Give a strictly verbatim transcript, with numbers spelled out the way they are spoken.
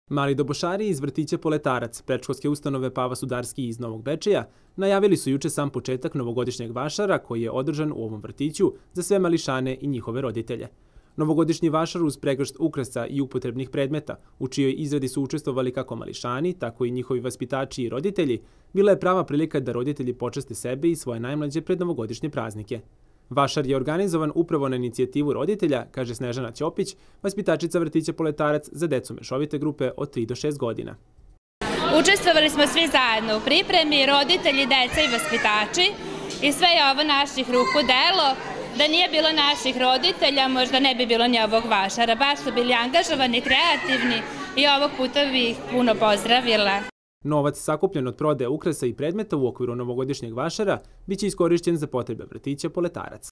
Mali dobošari iz vrtića Poletarac, predškolske ustanove Pava Sudarski iz Novog Bečeja, najavili su juče sam početak novogodišnjeg vašara koji je održan u ovom vrtiću za sve mališane i njihove roditelje. Novogodišnji vašar uz pregršt ukrasa i upotrebnih predmeta, u čijoj izradi su učestvovali kako mališani, tako i njihovi vaspitači i roditelji, bila je prava prilika da roditelji počaste sebe i svoje najmlađe pred novogodišnje praznike. Vašar je organizovan upravo na inicijativu roditelja, kaže Snežana Ćopić, vaspitačica vrtića Poletarac za decu mešovite grupe od tri do šest godina. Učestvovali smo svi zajedno u pripremi, roditelji, deca i vaspitači, i sve je ovo naših ruku delo. Da nije bilo naših roditelja, možda ne bi bilo ni ovog vašara. Baš su bili angažovani, kreativni i ovog puta bih ih puno pozdravila. Novac sakupljen od prodaje ukrasa i predmeta u okviru novogodišnjeg vašara biće iskorišćen za potrebe vrtića Poletarac.